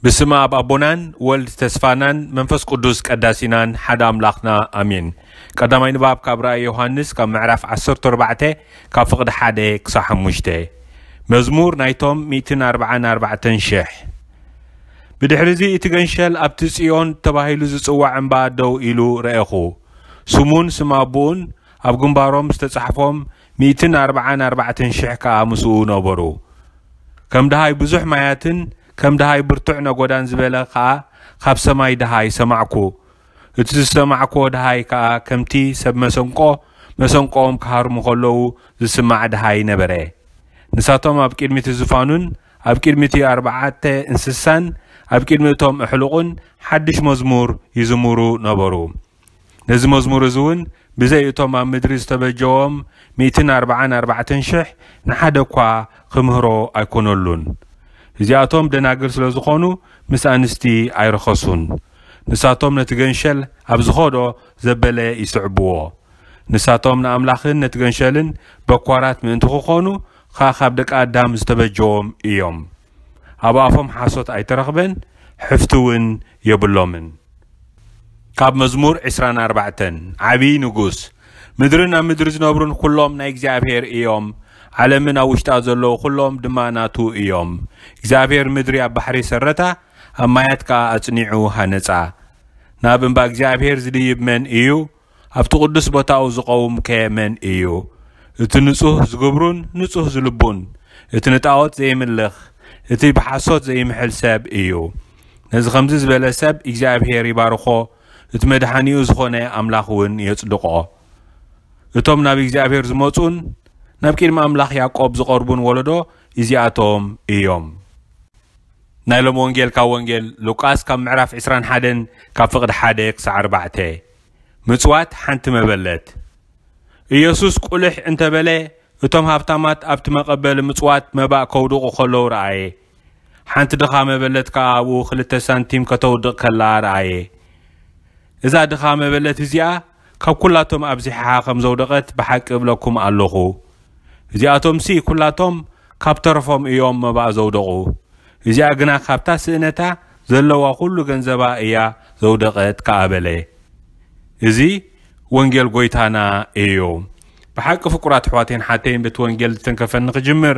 ብስመ ኣብ ኣቦናን ወልድ ተስፋናን መንፈስ ቅዱስ ቀዳሲናን ሓደ ኣምላኽና ኣሜን። ቀዳማይ ንባብ ካብ ራእይ ዮሃንስ ካብ ምዕራፍ ዓሰርተ ኣርባዕተ ካብ ፍቕዲ ሓደ ክሳብ ሓሙሽተ። መዝሙር ናይቶም ሚእትን ኣርባዓን ኣርባዕተን ሽሕ። ብድሕሪ እዚ እቲ ገንሸል ኣብቲ ጽዮን ተባሂሉ ዝጽዋዕ እምባ ደው ኢሉ ረኤኹ። ስሙን ስም ኣቦኡን ኣብ ግንባሮም ዝተጻሕፎም ሚእትን ኣርባዓን ኣርባዕተን ሽሕ ከኣ ምስኡ ነበሩ። ከም ደሃይ ብዙሕ ማያትን ከም ደሃይ ብርቱዕ ነጎዳን ዝበለ ከኣ ካብ ሰማይ ደሃይ ሰማዕኩ። እቲ ዝሰማዕኩዎ ደሃይ ከኣ ከምቲ ሰብ መሰንቆ መሰንቆኦም ክሃርሙ ከለዉ ዝስማዕ ደሃይ ነበረ። ንሳቶም ኣብ ቅድሚ እቲ ዝፋኑን ኣብ ቅድሚ እቲ ኣርባዕተ እንስሳን ኣብ ቅድሚ እቶም ኣሕሉቕን ሓድሽ መዝሙር ይዝምሩ ነበሩ። ነዚ መዝሙር እዚ እውን ብዘይ እቶም ኣብ ምድሪ ዝተበጀዎም ሚእትን ኣርባዓን ኣርባዕተን ሽሕ ንሓደ እኳ ክምህሮ ኣይኮነሉን። እዚኣቶም ደናግል ስለ ዝኾኑ ምስ ኣንስቲ ኣይረኸሱን። ንሳቶም ነቲ ገንሸል ኣብ ዝኸዶ ዘበለ ይስዕብዎ። ንሳቶም ንኣምላኽን ነቲ ገንሸልን በኳራት ምእንቲ ክኾኑ ኸኣ ካብ ደቂ ኣዳም ዝተበጀዎም እዮም። ኣብ ኣፎም ሓሶት ኣይተረኽበን፣ ሕፍቲ እውን የብሎምን። ካብ መዝሙር ዕስራን ኣርባዕተን። ዓብዪ ንጉስ። ምድርን ኣብ ምድሪ ዝነብሩን ኩሎም ናይ እግዚኣብሔር እዮም። ዓለምን ኣብ ውሽጣ ዘለዉ ኩሎም ድማ ናቱ እዮም። እግዚኣብሔር ምድሪ ኣብ ባሕሪ ሰረታ፣ ኣብ ማያት ከኣ ኣጽኒዑ ሃነጻ። ናብ እምባ እግዚኣብሔር ዝድይብ መን እዩ? ኣብቲ ቅዱስ ቦታኡ ዝቐውም ከ መን እዩ? እቲ ንጹህ ዝግብሩን ንጹህ ዝልቡን፣ እቲ ንጣዖት ዘይምልኽ፣ እቲ ብሓሶት ዘይምሕል ሰብ እዩ። ነዚ ከምዚ ዝበለ ሰብ እግዚኣብሔር ይባርኾ፣ እቲ መድሓኒኡ ዝኾነ ኣምላኽ እውን የጽድቖ። እቶም ናብ እግዚኣብሔር ዝመጹን ናብ ቅድሚ ኣምላኽ ያዕቆብ ዝቐርቡን ወለዶ እዚኣቶም እዮም። ናይ ሎም ወንጌል ካብ ወንጌል ሉቃስ ካብ ምዕራፍ ዕስራን ሓደን ካብ ፍቕዲ ሓደ ክሳዕ ኣርባዕተ። ምጽዋት ሓንቲ መበለት። ኢየሱስ ቁልሕ እንተበለ፣ እቶም ሃብታማት ኣብቲ መቐበሊ ምጽዋት መባእ ከውድቑ ከለዉ ረኣየ። ሓንቲ ድኻ መበለት ከኣ ኣብኡ ክልተ ሳንቲም ከተውድቕ ከላ ረኣየ። እዛ ድኻ መበለት እዚኣ ካብ ኩላቶም ኣብዚሓ ከም ዘውደቐት ብሓቂ እብለኩም ኣለኹ። እዚኣቶምሲ ኩላቶም ካብ ተረፎም እዮም መባእ ዘውደቑ። እዚኣ ግና ካብታ ስእነታ ዘለዋ ኩሉ ገንዘባ እያ ዘውደቐት ከኣ በለ። እዚ ወንጌል ጎይታና እዩ። ብሓቂ ፍቁራት ኣሕዋተይን ሓተይን በቲ ወንጌል ዝተንከፈኒ ክጅምር፣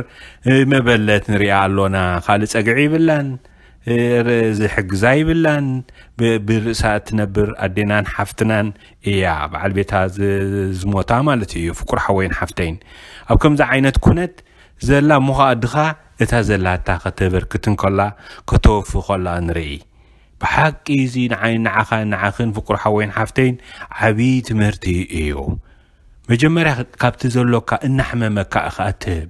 እ፣ መበለት ንሪኣ ኣሎና። ካልእ ጸግዒ ይብላን፣ እ፣ ር-፣ ዝሕግዛ ይብላን። ብ-፣ ብርእሳ እትነብር ኣዴናን ሓፍትናን እያ። በዓል ቤታ ዝ-፣ ዝሞታ ማለት እዩ። ፍቁር ሓወይን ሓፍተይን። ኣብ ከምዚ ዓይነት ኩነት ዘላ እሞ ኸኣ ድኻ እታ ዘላታ ከተበርክት እንከላ፣ ከተወፊ ከላ ንርኢ። ብሓቂ እዚ ንዓይን ንዓኻን ንዓኽን ፍቁር ሓወይን ሓፍተይን ዓብዪ ትምህርቲ እዩ። መጀመርያ ካብቲ ዘሎካ እናሕመመካ ኢኻ እትህብ።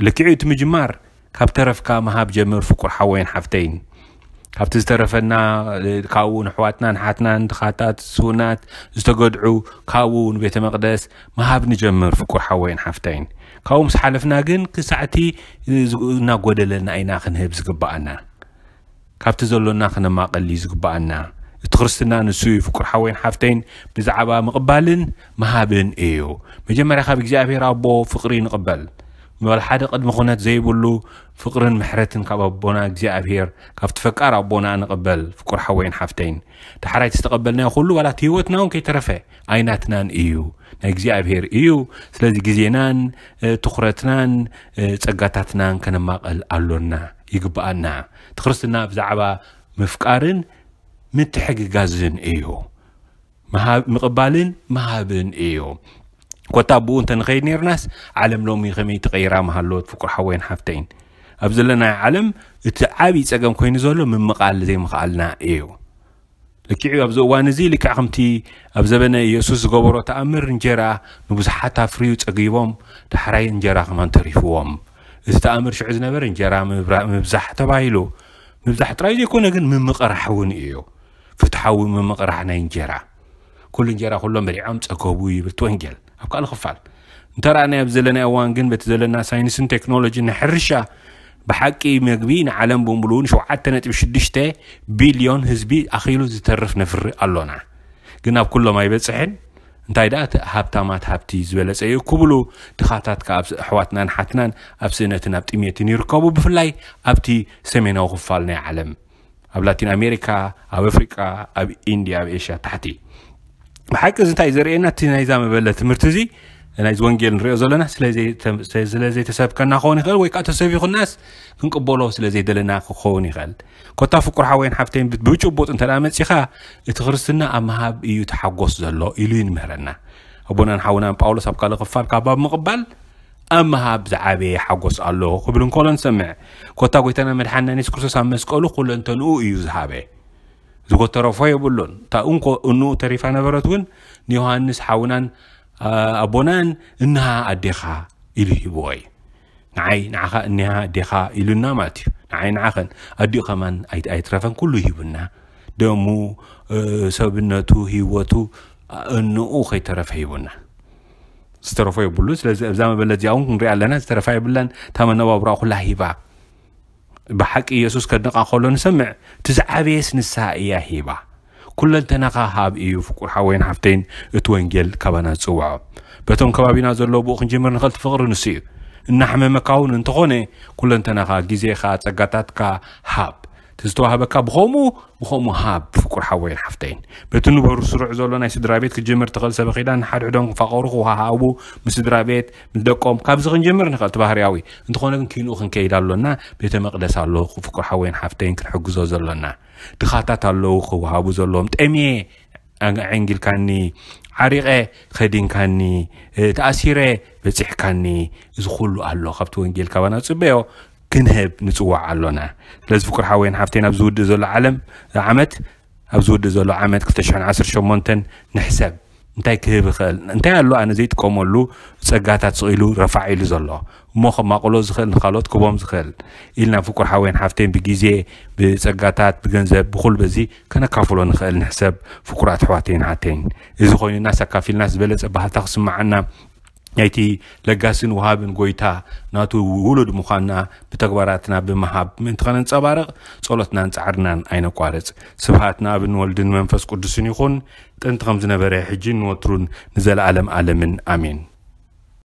ልክዕ እቲ ምጅማር ካብ ተረፍካ ምሃብ ጀምር ፍቁር ሓወይን ሓፍተይን። ካብቲ ዝተረፈና፣ ካብኡ ንኣሕዋትና ንሓትናን ድኻታት ስውናት ዝተገድዑ ካብኡ ንቤተ መቕደስ ምሃብ ንጀምር ፍቁር ሓወይን ሓፍተይን። ካብኡ ምስ ሓለፍና ግን ክሳዕቲ እናጎደለና ኢና ክንህብ ዝግብኣና። ካብቲ ዘሎና ክነማቐል እዩ ዝግብኣና። እቲ ክርስትና ንሱ እዩ ፍቁር ሓወይን ሓፍተይን፣ ብዛዕባ ምቕባልን ምሃብን እዩ። መጀመርያ ካብ እግዚኣብሔር ኣቦ ፍቕሪ ንቕበል። ዋላ ሓደ ቅድሚ ኩነት ዘይብሉ ፍቕርን ምሕረትን ካብ ኣቦና እግዚኣብሔር፣ ካብቲ ፈቃር ኣቦና ንቕበል ፍቁር ሓወይን ሓፍተይን። ዳሕራይ ዝተቐበልናዮ ኩሉ ዋላ እቲ ህይወትና እውን ከይተረፈ ኣይናትናን እዩ፣ ናይ እግዚኣብሔር እዩ። ስለዚ ግዜናን፣ እ፣ ትኹረትናን፣ እ፣ ጸጋታትናን ከነማቐል ኣሎና፣ ይግብኣና። እቲ ክርስትና ብዛዕባ ምፍቃርን ምትሕግጋዝን እዩ። ምሃብ-፣ ምቕባልን ምሃብን እዩ። ኮታ ብኡ እንተ ንኸይድ ነይርናስ፣ ዓለም ሎሚ ከመይ ተቐይራ ምሃለወት ፍቁር ሓወይን ሓፍተይን። ኣብ ዘለናዮ ዓለም እቲ ዓብዪ ጸገም ኮይኑ ዘሎ ምምቓል ዘይምኽኣልና እዩ። ልክዕ ኣብዚ እዋን እዚ ልክዕ ከምቲ ኣብ ዘበነ ኢየሱስ ዝገበሮ ተኣምር እንጀራ ንብዙሓት ኣፍርዩ ጸጊቦም፣ ዳሕራይ እንጀራ ከማን ተሪፍዎም። እቲ ተኣምር ሽዑ ዝነበረ እንጀራ ምብራ-፣ ምብዛሕ ተባሂሉ። ምብዛሕ ጥራይ ዘይኮነ ግን ምምቕራሕ እውን እዩ። ፍትሓዊ ምምቕራሕ ናይ እንጀራ። ኩሉ እንጀራ ኩሎም በሊዖም ጸገቡ ይብል እቲ ወንጌል። ኣብ ካልእ ክፋል እንተረኣናዮ ኣብዚ ዘለናዮ እዋን ግን በቲ ዘለና ሳይንስን ቴክኖሎጂን ናይ ሕርሻ ብሓቂ መግቢ ንዓለም ብምሉኡ ንሸውዓተ ነጥቢ ሽዱሽተ ቢልዮን ህዝቢ ኣኺሉ ዝተርፍ ነፍሪ ኣሎና። ግን ኣብ ኩሎም ኣይበጽሕን። እንታይ ደኣ እቲ ሃብታማት ሃብቲ ዝበለጸ እዩ ክብሉ፣ ድኻታት ከኣ ኣብ ኣሕዋትናን ሓትናን ኣብ ስእነትን ኣብ ጥሜትን ይርከቡ፣ ብፍላይ ኣብቲ ሰሜናዊ ክፋል ናይ ዓለም፣ ኣብ ላቲን ኣሜሪካ፣ ኣብ ኣፍሪቃ፣ ኣብ ኢንድያ፣ ኣብ ኤሽያ ታሕቲ። ብሓቂ እዚ እንታይ ዘርእየና? እቲ ናይዛ መበለ ትምህርቲ እዚ፣ ናይዚ ወንጌል ንሪኦ ዘለና ስለ ዘይተ-፣ ስለ ዘይተሰብከና ክኸውን ይኽእል፣ ወይ ከዓ ተሰቢኹናስ ክንቅበሎ ስለ ዘይደለና ክኸውን ይኽእል። ኮታ ፍቁር ሓወይን ሓፍተይን ብ-፣ ብጭቡጥ እንተ ደኣ መጺኻ፣ እቲ ክርስትና ኣብ ምሃብ እዩ ተሓጎስ ዘሎ ኢሉ ይንምህረና። ኣቦናን ሓውናን ጳውሎስ ኣብ ካልእ ክፋል ካብ ኣብ ምቕባል ኣብ ምሃብ ዝዓበየ ሓጎስ ኣሎ ክብል እንከሎ ንሰምዕ። ኮታ ጎይታና መድሓንና የሱስ ክርስቶስ ኣብ መስቀሉ ኩለንተንኡ እዩ ዝሃበ። ዝጎተረፎ የብሉን። እታ እንኮ እንኡ ተሪፋ ነበረት እውን ንዮሃንስ ሓውናን፣ ኣ-፣ ኣቦናን እንሃ ኣዴኻ ኢሉ ሂብዎ እዩ። ንዓይ ንዓኻ እኒሃ ኣዴኻ ኢሉና ማለት እዩ። ንዓይ ንዓኸን ኣዲኡ ከማን ኣይ-፣ ኣይትረፈን ኩሉ ሂቡና። ደሙ፣ እ፣ ሰብነቱ፣ ህይወቱ፣ ኣ-፣ እንኡ ከይተረፈ ሂቡና። ዝተረፎ የብሉን። ስለዚ ኣብዛ መበለት እዚኣ እውን ክንሪኣ ኣለና። ዝተረፋ የብላን። እታ መነባብሮኣ ኩላ ሂባ። ብሓቂ የሱስ ከድንቓ ከሎ ንሰምዕ። እቲ ዝዓበየስ ንሳ እያ ሂባ። ኩለንተናኻ ሃብ እዩ ፍቁር ሓወይን ሓፍተይን እቲ ወንጌል ካባና ዝጽውዖ። በቶም ከባቢና ዘለዉ ብኡ ክንጅምር ንኽእል፣ እቲ ፍቕሪ ንሱ እዩ። እናሕመመካ እውን እንተኾነ ኩለንተናኻ፣ ግዜኻ፣ ጸጋታትካ ሃብ። እቲ ዝተዋህበካ ብኸምኡ ብኸምኡ ሃብ ፍቁር ሓወይን ሓፍተይን። በቲ ንበሩ ስሩዕ ዘሎ ናይ ስድራ ቤት ክትጅምር ትኽእል። ሰበኺዳን ንሓድሕዶም ክፋቐሩ፣ ክወሃሃቡ፣ ምስ ስድራ ቤት፣ ምስ ደቆም፣ ካብዚ ክንጅምር ንኽእል፣ እቲ ባህርያዊ። እንተኾነ ግን ኪንኡ ክንከይድ ኣሎና። ቤተ መቕደስ ኣሎ፣ ፍቁር ሓወይን ሓፍተይን ክንሕግዞ ዘሎና። ድኻታት ኣለዉ ክወሃቡ ዘለዎም። ጠምየ፣ ኣንጊልካኒ፣ ዓሪቐ፣ ከዲንካኒ፣ እ፣ ተኣሲረ፣ በጺሕካኒ። እዚ ኩሉ ኣሎ። ካብቲ ወንጌል ካባና ዝጽበዮ ክንህብ ንጽዋዕ ኣሎና። ስለዚ ፍቁር ሓወይን ሓፍተይን፣ ኣብ ዝውድእ ዘሎ ዓለም፣ ዓመት፣ ኣብ ዝውድእ ዘሎ ዓመት ክልተ ሽሕን ዓሰርተ ሸሞንተን ንሕሰብ። እንታይ ክህብ ይኽእል? እንታይ ኣሎ ኣነ ዘይጥቀመሉ ጸጋታት ስቕ ኢሉ ረፋዕ ኢሉ ዘሎ? እሞ ከማቕሎ ዝኽእል፣ ንኻልኦት ክቦም ዝኽእል ኢልና ፍቁር ሓወይን ሓፍተይን ብግዜ፣ ብጸጋታት፣ ብገንዘብ፣ ብኹሉ በዚ ከነካፍሎ ንኽእል ንሕሰብ ፍቁራት ኣሕዋተይን ሓተይን። እዚ ኮይኑናስ ኣካፊልናስ ዝበለጸ ባህታ ክስምዓና ናይቲ ለጋስን ወሃብን ጎይታ ናቱ ውሉድ ምዃንና ብተግባራትና ብምሃብ ምእንቲ ከነንጸባርቕ ጸሎትናን ጻዕርናን ኣይነቋርጽ። ስብሃት ንኣብን ወልድን መንፈስ ቅዱስን ይኹን፣ ጥንቲ ከም ዝነበረ፣ ሕጂን ንወትሩን ንዘለኣለም ኣለምን። ኣሜን።